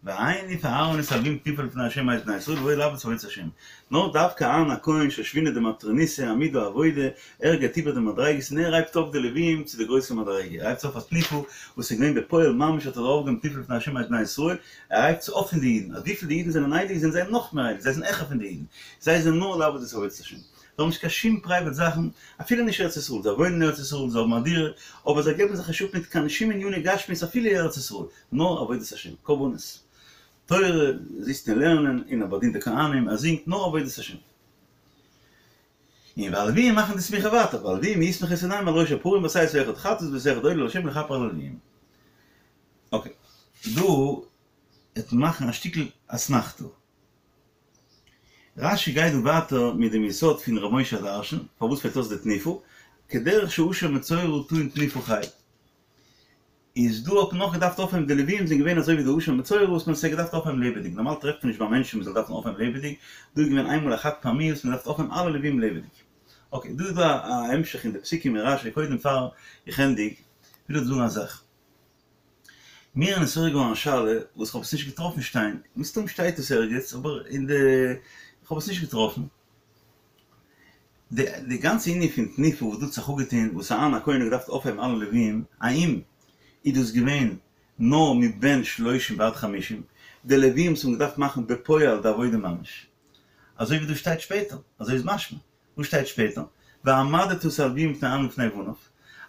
והניף אהרן את הלווים תנופה לפני ה' מאת בני ישראל ובאו לעבוד את עבודת ה'. נאר דווקא אהרן הכהן שושבינא דמטרוניתא עמוד העבודה, ער געבט איבער די מדריגות און ער הייבט אויף די לווים צו די גרויסע מדריגה, ער הייבט זיי אויף א תנופה וואס איז געווען בפועל ממש האט ער אויפגעהויבן תנופה לפני ה' מאת בני ישראל, ער הייבט זיי אויף פון די אידן, אז וויפיל די אידן זענען הייליג זענען זיי נאך מער הייליג, זיי זענען העכער פון די אידן, זיי זענען נאר לעבוד את עבודת השם, זיי האבן נישט קיין שום פרייוועט זאכן, אפילו נישט ארץ ישראל, זיי וואוינען אין ארץ ישראל, זיי האבן א דירה, אבער זיי געבן זיך נישט אפ מיט קיין שום עניני גשמיות אפילו אין ארץ ישראל, נאר עבודת השם, קרבנות, תורה, זיצט און לערנען, און ער באדינט די כהנים, ער זינגט, נאר עבודת השם. און והלוויים מאכן די סמיכה ווייטער, והלוויים יסמכו את ידיהם על ראש הפרים ועשית אחד חטאת ואת אחד עולה להשם לכפר על הלוויים. אקעי, דא וועט מען מאכן א שטיקל אסמכתא. רש"י גייט דא ווייטער מיט דעם יסוד פון ר' משה הדרשן, פארוואס פעלט אויס די תנופה, כדרך שאשם מצורע טעון תנופה חי. איז דא האט מען נאך געדארפט אויפהייבן די לווים זענען געווען אזוי ווי די אשם מצורע וואס מען האט זיי געדארפט אויפהייבן לעבעדיג, נארמאל טרעפט מען נישט ביי מענטשן מען זאל דארפן אויפהייבן לעבעדיג, דא איז געווען איינמאל א חד פעמי וואס מען דארף אויפהייבן אלע לווים לעבעדיג. אקעי, דא איז דא א המשך אין די פסוקים אין רש"י, קודם פאר איך ענדיג וויל איך זאגן א זאך. מיר איז נתעורר געווארן א שאלה וואס כ'האב עס נישט געטראפן שטיין, מסתם שטייט עס ערגעץ אבער אין די כ'האב עס נישט געטראפן. די די גאנצע ענין פון תנופה וואס דא האט זיך אפגעטון וואס אהרן הכהן האט געדארפט אויפהייבן אלע לווים, האם איז דאס געווען נאר מבן שלושים ועד חמישים, די לווים וואס האבן געדארפט מאכן בפועל די עבודה ממש, אזוי ווי דא שטייט שפעטער, אזוי איז משמע. וואס שטייט שפעטער? והעמדת את הלוויים לפני אהרן ולפני בניו,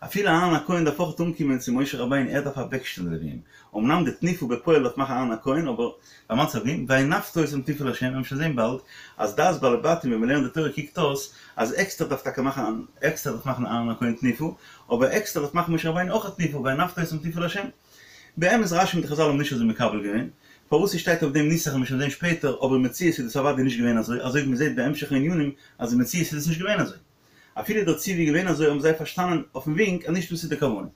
אפילו אהרן הכהן דארף אויך אנקומען צו משה רבינו ער דארף אוועקשטעלן די לוויים, אמנם די תנופה בפועל דארף מאכן אהרן הכהן אבער והעמדת את הלוויים, והנפת אותם תנופה לה', וועלן שוין זען באלד אז דעת בעלי בתים ווען מ'לערנט די תורה קוקט אויס אז עקסטער דארף טאקע מאכן עקסטער דארף מאכן אהרן הכהן תנופה, אבער עקסטער דארף מאכן משה רבינו אויך א תנופה והנפת אותם תנופה לה'. באמת רש"י מיט חזל האבן נישט אזוי מקבל געווען, פארוואס ס'שטייט אויף דעם נוסח וועלן מיר שוין זען שפעטער, אבער אין מציאות איז דאס אוודאי נישט געווען אזוי, אזוי ווי מ'זעט בהמשך הענינים אז אין מציאות איז דאס נישט געווען אזוי. אפילו דער ציווי איז געווען אזוי האבן זיי פארשטאנען אויפן ווינק אז נישט דאס איז די כוונה.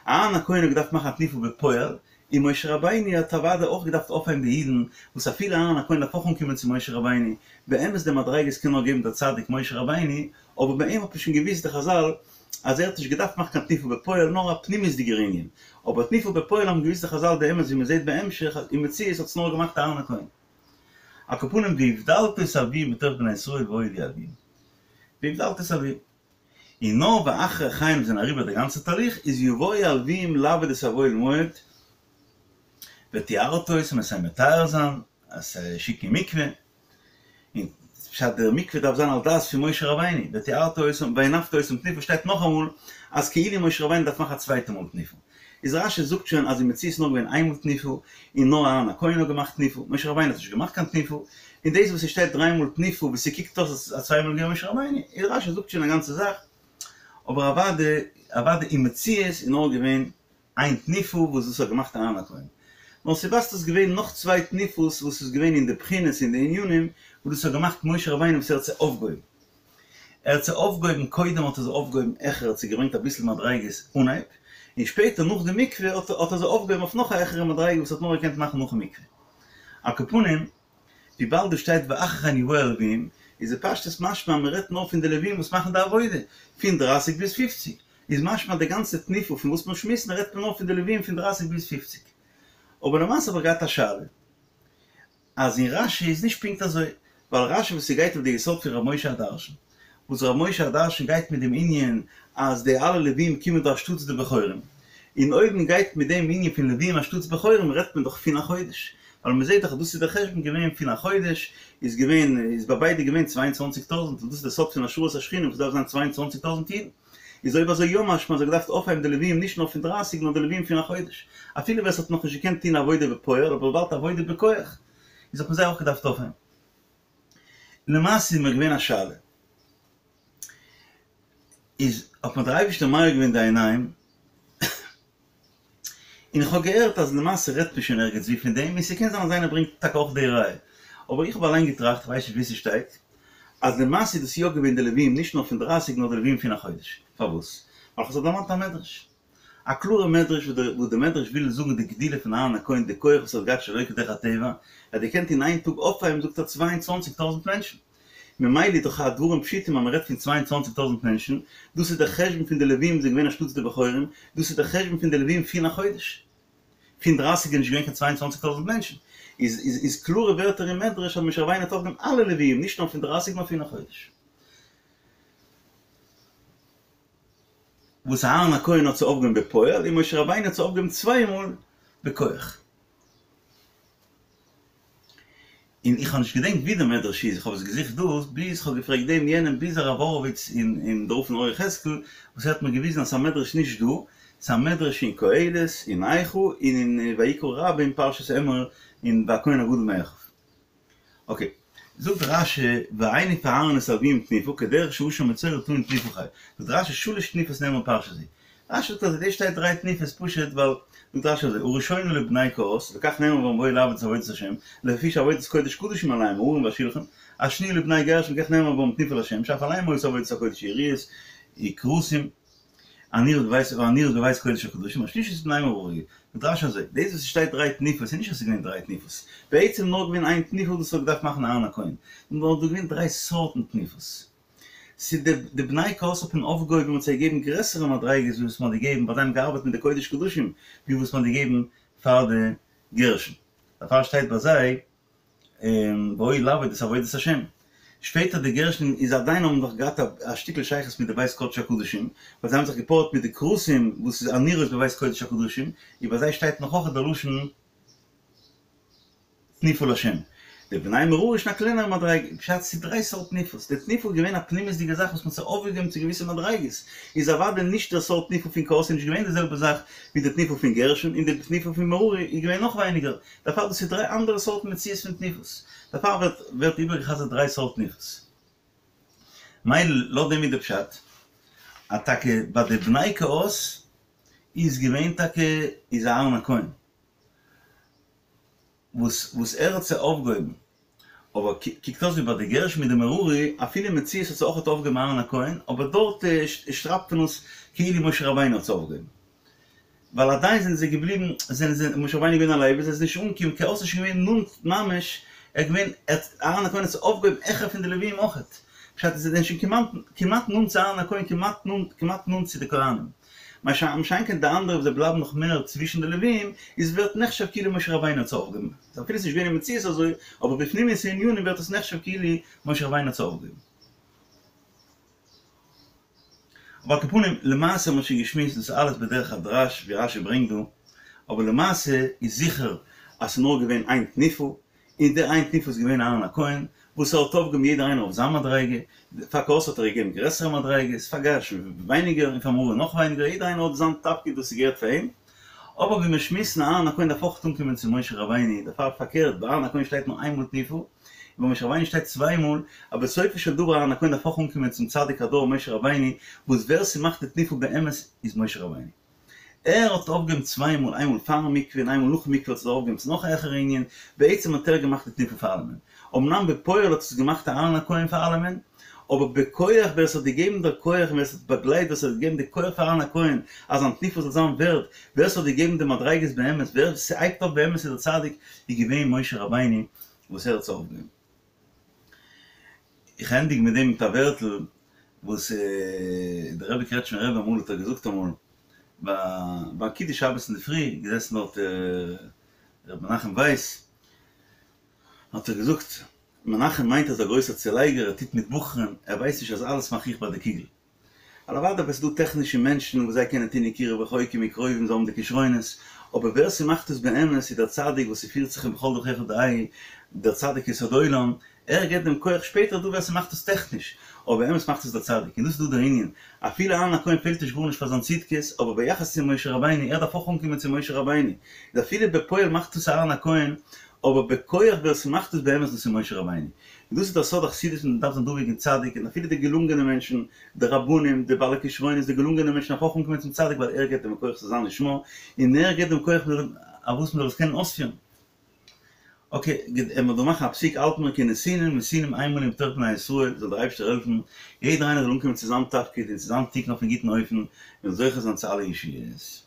אהרן הכהן האט געדארפט מאכן א תנופה בפועל, און משה רבינו האט אוודאי אויך געדארפט אויפהייבן די אידן, וואס אפילו אהרן הכהן דארף אויך אנקומען צו משה רבינו, באמת די מדריגות קען נאר געבן דער צדיק משה רבינו, אבער ביי אים האט מען שוין געוואוסט די חזל אז ער האט נישט געדארפט מאכן קיין תנופה בפועל נאר א פנימיות'דיגער ענין, אבער תנופה בפועל האבן געוואוסט די חזל די אמת ווי מען זעט בהמשך אז אין מציאות האט עס נאר געמאכט אהרן הכהן. על כל פנים והבדלת את הלוויים מתוך בני ישראל והיו לי הלוויים. והבדלת את הלוויים. און נאר ואחרי כן זענען אריבער די גאנצע תהליך איז יבואו הלוויים לעבוד את האוהל מועד וטהרת אותם עס זיי מטהר זיין, עס שיקן אין מקווה, און פשט דער מקווה דארף זיין על דעת פון משה רבינו, וטהרת אותם והנפת אותם תנופה שטייט נאכאמאל אז כאילו משה רבינו דארף מאכן א צווייטע מאל תנופה, איז רש"י זאגט שוין אז אין מציאות איז נאר געווען איינמאל תנופה און נאר אהרן הכהן האט געמאכט תנופה, משה רבינו האט נישט געמאכט קיין תנופה, און דאס וואס עס שטייט דריי מאל תנופה ווי ס'קוקט אויס אז צוויי מאל איז געווען משה רבינו, איז רש"י זאגט שוין א גאנצע זאך, אבער אוודאי אוודאי אין מציאות איז נאר געווען איין תנופה וואס דאס האט געמאכט אהרן הכהן. נאר ס'ווייזט אויס געווען נאך צוויי תנופות וואס איז געווען אין די בחינות אין די ענינים וואס דאס האט געמאכט משה רבינו וואס ער האט זיי אויפגעהויבן. ער האט זיי אויפגעהויבן קודם האט ער זיי אויפגעהויבן העכער האט זיי געברענגט אביסל מדריגות אנהייב, און שפעטער נאך די מקווה האט האט ער זיי אויפגעהויבן אויף נאך א העכערע מדריגה וואס האט נאר געקענט מאכן נאכן מקווה. על כל פנים, וויבאלד דא שטייט ואחרי כן יבואו הלווים, איז בפשטות משמע אז מ'רעדט נאר פון די לווים וואס מאכן די עבודה, פון דרייסיג ביז פופציג, איז משמע די גאנצע תנופה פון וואס מיר שמועסן רעדט מען נאר פון די לווים פון דרייסיג ביז פופציג. אבער למעשה האב איך געהאט א שאלה, אז אין רש"י איז נישט פונקט אזוי. ווייל רשי וואס ס'גייט אויף די יסוד פון ר' משה הדרשן, וואס ר' משה הדרשן גייט מיט דעם ענין אז די אלע לווים קומען דא אנשטאטס די בכורים, און אויב מען גייט מיט דעם ענין פון לווים אנשטאטס בכורים רעדט מען דאך פון החודש, ווייל מען זעט דאך אז דאס איז דער חשבון געווען פון החודש, איז געווען איז ביי ביידע געווען 22 טויזענט, און דאס איז דער סוד פון השראת השכינה וואס דארף זיין 22 טויזענט אידן. איז אויב אזוי יא משמע אז ער האט געדארפט אויפהייבן די לווים נישט נאר פון דרייסיג נאר די לווים פון החודש, אפילו ווער ס'האט נאכנישט געקענט טון עבודה בפועל אבער וויבאלד עבודה בכח איז האט מען זיי אויך געדארפט אויפהייבן. למעשה איז מיר געווען א שאלה איז האט מיר דער אייבערשטער מאיר געווען די עיניים און איך האב געהערט אז למעשה רעדט מען שוין ערגעץ ווי פון דעם, און ס'קען זיין אז איינער ברענגט טאקע אויך די ראיה, אבער איך האב אליין געטראכט, כ'ווייס נישט וואו ס'שטייט, אז למעשה איז דאס יא געווען די לווים נישט נאר פון דרייסיג נאר די לווים פון החודש. פארוואס? ווייל כ'האב זיך דערמאנט א מדרש. א קלארע מדרש וואס די מדרש וויל זאגן די גדולה פון אהרן הכהן די כח וואס ער האט געהאט שלא כדרך הטבע, ער האט געקענט אין איין טאג אויפהייבן זאגט ער צוויי און צוואנציג טויזנט מענטשן. ממילא איז דאך הדברים פשוטים אז מען רעדט פון 22 טויזנט מענטשן, דאס איז דער חשבון פון די לווים זענען געווען אנשטאטס די בכורים, דאס איז דער חשבון פון די לווים פון החודש. פון דרייסיג איז נישט געווען קיין 22 טויזנט מענטשן. איז איז איז קלארע ווערטער אין מדרש אז משה רבינו האט אויפגעהויבן אלע לווים, נישט נאר פון דרייסיג נאר פון החודש. וואס אהרן הכהן האט זיי אויפגעהויבן בפועל, און משה רבינו האט זיי אויפגעהויבן צוויי מאל בכח. און איך האב נישט געדענקט ווי די מדרש איז, איך האב עס געזוכט דא, ביז כ'האב געפרעגט דעם יענעם, ביז הרב הורוביץ און און דער רב פון אור יחזקאל, וואס ער האט מיר געוויזן אז ס'איז א מדרש נישט דא, ס'איז א מדרש אין קהלת, אין איכה, און אין ויקרא רבה אין פרשת אמור, אין והכהן הגדול מאחיו. אקעי, זאגט רשי, והניף אהרן את הלוים תנופה, כדרך שאשם מצורע טעון תנופה חייב. זאגט רשי, שלש תנופות נאמר בפרשה זו. רשי זאגט אז דא שטייט דריי תנופות פשוט ווייל זאגט רשי אזוי הראשונה לבני קהת וכך נאמר בם והיו לעבוד את עבודת השם לפי שעבודת קודש קדשים עליהם הארון והשלחן השניה לבני גרשון וכך נאמר בם תנופה להשם שאף עליהם היתה עבודת הקודש היריעות וכרסים הנראות בבית והנראות בבית קודש הקדשים השלישית לבני מררי זאגט רשי אזוי דאס וואס ס'שטייט דריי תנופות איז נישט אז ס'איז געווען דריי תנופות בעצם נאר געווען איין תנופה וואס האט געדארפט מאכן אהרן הכהן נאר דא געווען דריי סארטן תנופות. ס'איז די די בני קהת האט מען אויפגעהויבן און זיי געגעבן גרעסערע מדריגות ווי וואס מ'האט געגעבן ווייל זיי האבן געארבעט מיט די קודש קדשים ווי וואס מ'האט געגעבן פאר די גרשון דערפאר שטייט ביי זיי והיו לעבוד את עבודת השם. שפעטער די גרשון איז עדיין האבן נאך געהאט א שטיקל שייכות מיט די בית קודש הקדשים ווייל זיי האבן זיך געפארעט מיט די כרסים וואס איז הנראות בבית קודש הקדשים און ביי זיי שטייט נאך אויך די לשון תנופה לשם. די בני מררי איז שוין א קלענערע מדריגה, פשט ס'איז דריי סארט תנופות, די תנופה איז געווען א פנימיות'דיגע זאך וואס מ'האט זיי אויפגעהויבן צו געוויסע מדריגות, איז אוודאי נישט דער סארט תנופה פון קהת איז נישט געווען די זעלבע זאך ווי די תנופה פון גרשון, און די תנופה פון מררי איז געווען נאך ווייניגער, דערפאר דאס איז דריי אנדערע סארטן מציאות פון תנופות, דערפאר ווערט ווערט איבערגעחזרט דריי סארט תנופות. מילא לויט דעם איז די פשט אז טאקע ביי די בני קהת איז געווען טאקע איז אהרן הכהן. וואס וואס ער האט זיי אויפגעהויבן, אבער קוקט אויס ווי ביי די גרשון מיט די מררי, אפילו אין מציאות האט זיי אויכעט אויפגעהויבן אהרן הכהן, אבער דארט שרייבט מען עס כאילו משה רבינו האט זיי אויפגעהויבן. ווייל עדיין זענען זיי געבליבן, זענען זיי, משה רבינו איז געווען א לוי, זיי זענען נישט אנגעקומען, קהת איז שוין געווען נאנט ממש, ער איז געווען, ער האט, אהרן הכהן האט זיי אויפגעהויבן העכער פון די לוויים אויכעט. פשט איז זיי זענען שוין כמעט, כמעט נאנט צו אהרן הכהן, כמעט נאנט, כמעט נאנט צו די כהנים. מה שאין כן די אנדערע וואס זיי בלייבן נאך מער צווישן די לווים, איז ווערט נחשב כאילו משה רבינו האט זיי אויפגעהויבן. אפילו ס'איז נישט געווען אין מציאות אזוי, אבער בפנימיות הענינים ווערט עס נחשב כאילו משה רבינו האט זיי אויפגעהויבן. אבער על כל פנים, למעשה האט מען שוין געשמועסט דאס אלעס בדרך הדרש ווי רשי ברענגט דא, אבער למעשה איז זיכער אז ס'איז נאר געווען איין תנופה, און דער איין תנופה איז געווען אהרן הכהן, וואס ער האט אויפגעהויבן יעדער איינער אויף זיין מדריגה, פאר קהת האט ער געגעבן גרעסערע מדריגות, פאר גרשון ווייניגער און פאר מררי נאך ווייניגער, יעדער איינער האט זיין תפקיד וואס ס'געהערט פאר אים, אבער ווי מיר שמועסן אהרן הכהן דארף אויך אנקומען צו משה רבינו, דערפאר פארקערט ביי אהרן הכהן שטייט נאר איין מאל תנופה, און ביי משה רבינו שטייט צוויי מאל, אבער בסופו של דבר אהרן הכהן דארף אויך אנקומען צום צדיק הדור משה רבינו, וואס ווער ס'מאכט די תנופה באמת איז משה רבינו. ער האט אויפגעהויבן צוויי מאל, איינמאל פארן מקווה און איינמאל נאכן מקווה האט ער אויפגעהויבן צו נאך א העכערע ענין, בעצם האט ער געמאכט די תנופה פאר אלעמען, אמנם בפועל האט עס געמאכט אהרן הכהן פאר אלעמען, אבער בכח ווער עס האט געגעבן דער כח און ווער עס האט באגלייט ווער עס האט געגעבן די כח פאר אהרן הכהן אז זיין תנופה זאל זיין ווערד, ווער עס האט געגעבן די מדריגות באמת, ווער ס'הייבט אויף באמת איז דער צדיק, איז געווען משה רבינו וואס ער האט עס אויפגעהויבן. איך ענדיג מיט דעם מיט א ווערטל וואס דער רבי קרעטשמער רבי אמאל האט ער געזאגט אמאל ביי קידוש שבת אינדערפרי געזעסן דארט ר' מנחם ווייס האט ער געזאגט. מנחם מיינט אז דער גרויסער צולייגער, ער טוט מיט בחורים, ער ווייסט נישט אז אלעס מאך איך ביי די קוגל. ווייל אוודאי אבער ס'איז דא טעכנישע מענטשן וואס זיי קענען טון יקרבו רחוקים מקרובים, זיי האבן די כשרונות, אבער ווער ס'מאכט עס באמת איז דער צדיק וואס ס'פירט זיך אין בכל דרכיך דעהו, דער צדיק יסוד עולם, ער געבט דעם כח, שפעטער איז דא ווער ס'מאכט עס טעכניש, אבער באמת מאכט עס דער צדיק, און דאס איז דא דער ענין, אפילו אהרן הכהן פעלט נישט גארנישט פאר זיין צדקות, אבער ביחס צו משה רבינו, ער דארף אויך אנקומען צו משה רבינו, איז אפילו בפועל מאכט עס אהרן הכהן, אבער בכח ווער ס'מאכט עס באמת דאס איז משה רבינו. און דאס איז דער סוד החסידות מען דארף זיין דבוק אין צדיק, און אפילו די געלונגענע מענטשן, די רבנים, די בעלי כשרונות, די געלונגענע מענטשן דארף אויך אנקומען צום צדיק ווייל ער געבט דעם כח צו זיין לשמה, און ער געבט דעם כח אויף וואס מ'זאל עס קענען אויספירן. אקעי, גוט, עמער דא מאכן א פסיק האלט מיר כנתינים נתינים הם לנו בתוך בני ישראל, זאל דער אייבערשטער העלפן יעדער איינער זאל אנקומען צו זיין תפקיד און צו זיין תיקון אויפן גוטן אופן, און זוכה זיין צו אלע ישועות.